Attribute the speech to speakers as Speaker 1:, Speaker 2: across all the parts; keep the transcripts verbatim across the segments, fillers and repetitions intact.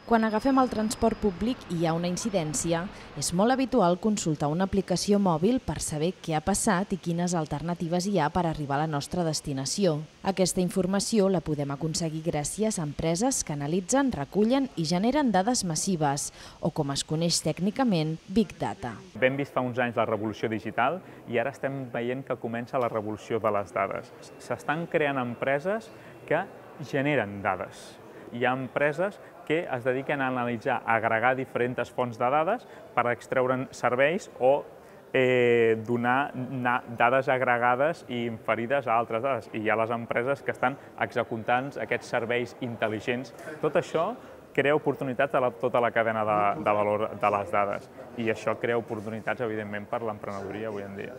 Speaker 1: Quan agafem el transport públic i hi ha una incidència, és molt habitual consultar una aplicació mòbil per saber què ha passat i quines alternatives hi ha per arribar a la nostra destinació. Aquesta informació la podem aconseguir gràcies a empreses que analitzen, recullen i generen dades massives, o com es coneix tècnicament, Big Data.
Speaker 2: Vam vist fa uns anys la revolució digital i ara estem veient que comença la revolució de les dades. S'estan creant empreses que generen dades. Hi ha empreses que es dediquen a analitzar, a agregar diferents fonts de dades per extreure'n serveis o eh, donar dades agregades i inferides a altres dades. I hi ha les empreses que estan executant aquests serveis intel·ligents. Tot això crea oportunitats a tota la cadena de, de valor de les dades i això crea oportunitats, evidentment, per l'emprenedoria avui en dia.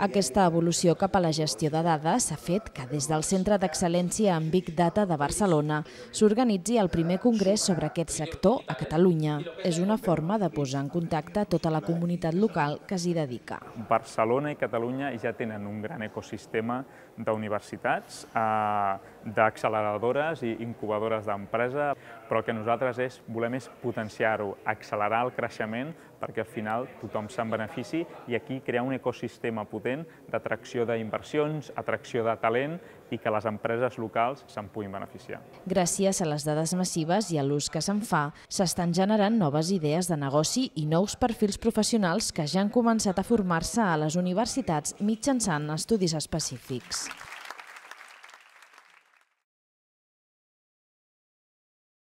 Speaker 1: Aquesta evolució cap a la gestió de dades s'ha fet que des del Centre d'Excel·lència en Big Data de Barcelona s'organitzi el primer congrés sobre aquest sector a Catalunya. És una forma de posar en contacte tota la comunitat local que s'hi dedica.
Speaker 2: Barcelona i Catalunya ja tenen un gran ecosistema d'universitats, d'acceleradores i incubadores d'empresa, però el que nosaltres és, volem és potenciar-ho, accelerar el creixement perquè al final tothom se'n benefici i aquí crear un ecosistema potent d'atracció d'inversions, atracció de talent i que les empreses locals se'n puguin beneficiar.
Speaker 1: Gràcies a les dades massives i a l'ús que se'n fa, s'estan generant noves idees de negoci i nous perfils professionals que ja han començat a formar-se a les universitats mitjançant estudis específics.